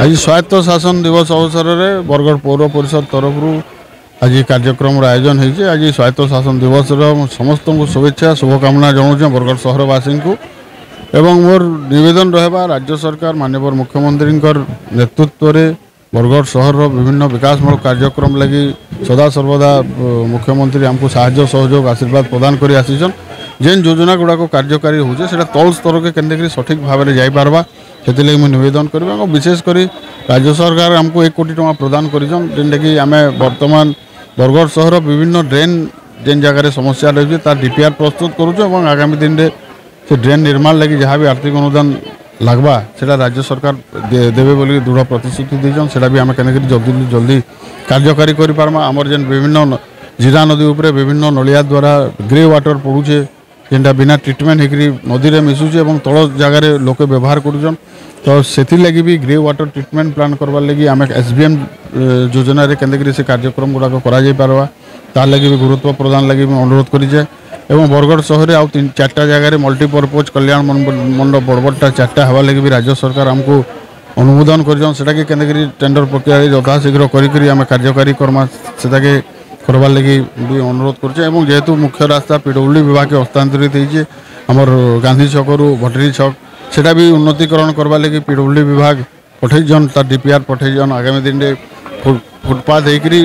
ଆଜି ସ୍ୱାୟତ୍ତ ଶାସନ ଦିବସ ଅବସରରେ ବରଗଡ଼ ପୌର ପରିଷଦ ତରଫରୁ ଆଜି କାର୍ଯ୍ୟକ୍ରମର ଆୟୋଜନ ହେଇଛି। ଆଜି ସ୍ୱାୟତ୍ତ ଶାସନ ଦିବସର ସମସ୍ତଙ୍କୁ ଶୁଭେଚ୍ଛା ଶୁଭକାମନା ଜଣାଉଛେ ବରଗଡ଼ ସହରବାସୀଙ୍କୁ ଏବଂ ମୋର ନିବେଦନ ରହିବା, ରାଜ୍ୟ ସରକାର ମାନ୍ୟବର ମୁଖ୍ୟମନ୍ତ୍ରୀଙ୍କର ନେତୃତ୍ୱରେ ବରଗଡ଼ ସହରର ବିଭିନ୍ନ ବିକାଶମୂଳକ କାର୍ଯ୍ୟକ୍ରମ ଲାଗି ସଦାସର୍ବଦା ମୁଖ୍ୟମନ୍ତ୍ରୀ ଆମକୁ ସାହାଯ୍ୟ ସହଯୋଗ ଆଶୀର୍ବାଦ ପ୍ରଦାନ କରି ଆସିଛନ୍। ଯେନ୍ ଯୋଜନା ଗୁଡ଼ାକ କାର୍ଯ୍ୟକାରୀ ହେଉଛି, ସେଇଟା ତଳ ସ୍ତରକେ କେନ୍ତାକରି ସଠିକ୍ ଭାବରେ ଯାଇପାରବା, ସେଥିଲାଗି ମୁଁ ନିବେଦନ କରିବି। ଏବଂ ବିଶେଷ କରି ରାଜ୍ୟ ସରକାର ଆମକୁ 1 କୋଟି ଟଙ୍କା ପ୍ରଦାନ କରିଛନ୍, ଯେନ୍ଟାକି ଆମେ ବର୍ତ୍ତମାନ ବରଗଡ଼ ସହର ବିଭିନ୍ନ ଡ୍ରେନ୍ ଯେନ୍ ଜାଗାରେ ସମସ୍ୟା ରହିଛି, ତାର ଡିପିଆର୍ ପ୍ରସ୍ତୁତ କରୁଛୁ ଏବଂ ଆଗାମୀ ଦିନରେ ସେ ଡ୍ରେନ୍ ନିର୍ମାଣ ଲାଗି ଯାହା ବି ଆର୍ଥିକ ଅନୁଦାନ ଲାଗ୍ବା, ସେଟା ରାଜ୍ୟ ସରକାର ଦେବେ ବୋଲି ଦୃଢ଼ ପ୍ରତିଶ୍ରୁତି ଦେଇଛନ୍। ସେଟା ବି ଆମେ କେନ୍ତାକରି ଜଲ୍ଦି ଜଲ୍ଦି କାର୍ଯ୍ୟକାରୀ କରିପାରମା। ଆମର ଯେନ୍ ବିଭିନ୍ନ ଜିରା ନଦୀ ଉପରେ ବିଭିନ୍ନ ନଳିଆ ଦ୍ୱାରା ଗ୍ରେ ୱାଟର ପଡ଼ୁଛେ, ଯେନ୍ଟା ବିନା ଟ୍ରିଟମେଣ୍ଟ ହେଇକରି ନଦୀରେ ମିଶୁଛେ ଏବଂ ତଳ ଜାଗାରେ ଲୋକେ ବ୍ୟବହାର କରୁଛନ୍, ତ ସେଥିର୍ଲାଗି ବି ଗ୍ରେ ୱାଟର ଟ୍ରିଟମେଣ୍ଟ ପ୍ଲାନ୍ କରବାର୍ ଲାଗି ଆମେ ଏସ୍ ବି ଏମ୍ ଯୋଜନାରେ କେନ୍ତାକରି ସେ କାର୍ଯ୍ୟକ୍ରମ ଗୁଡ଼ାକ କରାଯାଇ ପାରବା, ତାର୍ ଲାଗି ବି ଗୁରୁତ୍ୱ ପ୍ରଦାନ ଲାଗି ମୁଁ ଅନୁରୋଧ କରିଛେ। ଏବଂ ବରଗଡ଼ ସହରରେ ଆଉ 3 4ଟା ଜାଗାରେ ମଲ୍ଟିପର୍ପୋଜ୍ କଲ୍ୟାଣ ମଣ୍ଡପ ବଡ଼ ବଡ଼ଟା 4ଟା ହେବା ଲାଗି ବି ରାଜ୍ୟ ସରକାର ଆମକୁ ଅନୁମୋଦନ କରିଛନ୍। ସେଟାକେ କେନ୍ତାକରି ଟେଣ୍ଡର ପ୍ରକ୍ରିୟାରେ ଯଥାଶୀଘ୍ର କରିକରି ଆମେ କାର୍ଯ୍ୟକାରୀ କର୍ମା, ସେଟାକେ କରବାର୍ ଲାଗି ବି ଅନୁରୋଧ କରୁଛେ। ଏବଂ ଯେହେତୁ ମୁଖ୍ୟ ରାସ୍ତା ପିଡବ୍ଲ୍ୟୁଡି ବିଭାଗକେ ହସ୍ତାନ୍ତରିତ ହେଇଛେ, ଆମର ଗାନ୍ଧୀ ଛକରୁ ଭଟେରୀ ଛକ, ସେଟା ବି ଉନ୍ନତିକରଣ କରବାର୍ ଲାଗି ପିଡବ୍ଲ୍ୟୁଡି ବିଭାଗ ପଠେଇଛନ୍, ତାର ଡିପିଆର୍ ପଠେଇଛନ୍। ଆଗାମୀ ଦିନରେ ଫୁଟପାଥ ହେଇକରି,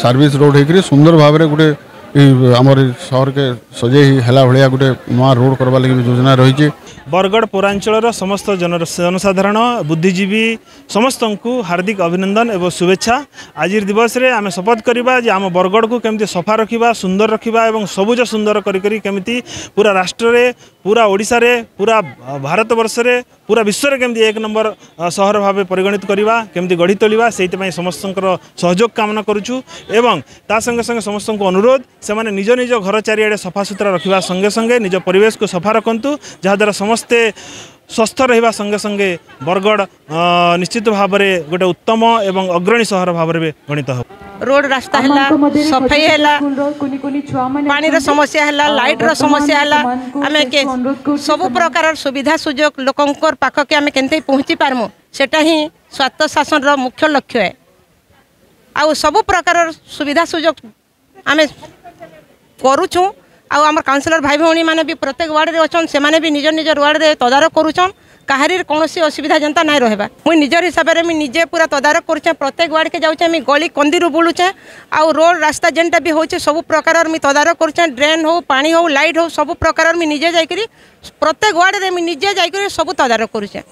ସର୍ଭିସ ରୋଡ଼ ହେଇକରି ସୁନ୍ଦର ଭାବରେ ଗୋଟେ ଆମର ସହରକେ ସଜେଇ ହେଲା ଭଳିଆ ଗୋଟେ ନୂଆ ରୋଡ଼ କରବାର୍ ଲାଗି ବି ଯୋଜନା ରହିଛି। ବରଗଡ଼ ପୌରାଞ୍ଚଳର ସମସ୍ତ ଜନସାଧାରଣ, ବୁଦ୍ଧିଜୀବୀ ସମସ୍ତଙ୍କୁ ହାର୍ଦ୍ଦିକ ଅଭିନନ୍ଦନ ଏବଂ ଶୁଭେଚ୍ଛା। ଆଜିର ଦିବସରେ ଆମେ ଶପଥ କରିବା ଯେ ଆମ ବରଗଡ଼କୁ କେମିତି ସଫା ରଖିବା, ସୁନ୍ଦର ରଖିବା ଏବଂ ସବୁଜ ସୁନ୍ଦର କରି କରି କେମିତି ପୁରା ରାଷ୍ଟ୍ରରେ, ପୁରା ଓଡ଼ିଶାରେ, ପୁରା ଭାରତବର୍ଷରେ, ପୁରା ବିଶ୍ୱରେ କେମିତି 1 ନମ୍ବର ସହର ଭାବେ ପରିଗଣିତ କରିବା, କେମିତି ଗଢ଼ି ତୋଳିବା, ସେଇଥିପାଇଁ ସମସ୍ତଙ୍କର ସହଯୋଗ କାମନା କରୁଛୁ। ଏବଂ ତା ସଙ୍ଗେ ସଙ୍ଗେ ସମସ୍ତଙ୍କୁ ଅନୁରୋଧ, ସେମାନେ ନିଜ ନିଜ ଘର ଚାରିଆଡ଼େ ସଫାସୁତୁରା ରଖିବା ସଙ୍ଗେ ସଙ୍ଗେ ନିଜ ପରିବେଶକୁ ସଫା ରଖନ୍ତୁ, ଯାହାଦ୍ୱାରା ସମସ୍ତେ ସ୍ୱସ୍ଥ ରହିବା ସଙ୍ଗେ ସଙ୍ଗେ ବରଗଡ଼ ନିଶ୍ଚିତ ଭାବରେ ଗୋଟେ ଉତ୍ତମ ଏବଂ ଅଗ୍ରଣୀ ସହର ଭାବରେ ବି ଗଣିତ ହେବ। ରୋଡ଼ ରାସ୍ତା ହେଲା, ସଫେଇ ହେଲା, ପାଣିର ସମସ୍ୟା ହେଲା, ଲାଇଟ୍ର ସମସ୍ୟା ହେଲା, ଆମେ ସବୁ ପ୍ରକାରର ସୁବିଧା ସୁଯୋଗ ଲୋକଙ୍କର ପାଖକେ ଆମେ କେମିତି ପହଞ୍ଚି ପାରମୁ, ସେଟା ହିଁ ସ୍ୱାୟତ୍ତ ଶାସନର ମୁଖ୍ୟ ଲକ୍ଷ୍ୟ। ଆଉ ସବୁ ପ୍ରକାରର ସୁବିଧା ସୁଯୋଗ ଆମେ କରୁଛୁଁ। ଆଉ ଆମର କାଉନସିଲର ଭାଇ ଭଉଣୀମାନେ ବି ପ୍ରତ୍ୟେକ ୱାର୍ଡ଼ରେ ଅଛନ୍, ସେମାନେ ବି ନିଜ ନିଜ ୱାର୍ଡ଼ରେ ତଦାରଖ କରୁଛନ୍, କାହାରିର କୌଣସି ଅସୁବିଧା ଯେନ୍ତା ନାଇଁ ରହିବା। ମୁଇଁ ନିଜର ହିସାବରେ ମୁଇଁ ନିଜେ ପୁରା ତଦାରଖ କରୁଛେଁ, ପ୍ରତ୍ୟେକ ୱାର୍ଡ଼କେ ଯାଉଛେଁ, ମୁଇଁ ଗଳି କନ୍ଦିରୁ ବୁଲୁଛେଁ ଆଉ ରୋଡ଼ ରାସ୍ତା ଯେନ୍ଟା ବି ହଉଛେ, ସବୁ ପ୍ରକାରର ମୁଇଁ ତଦାରଖ କରୁଛେଁ। ଡ୍ରେନ୍ ହଉ, ପାଣି ହଉ, ଲାଇଟ୍ ହଉ, ସବୁ ପ୍ରକାରର ମୁଇଁ ନିଜେ ଯାଇକରି ପ୍ରତ୍ୟେକ ୱାର୍ଡ଼ରେ ମୁଇଁ ନିଜେ ଯାଇକରି ସବୁ ତଦାରଖ କରୁଛେଁ।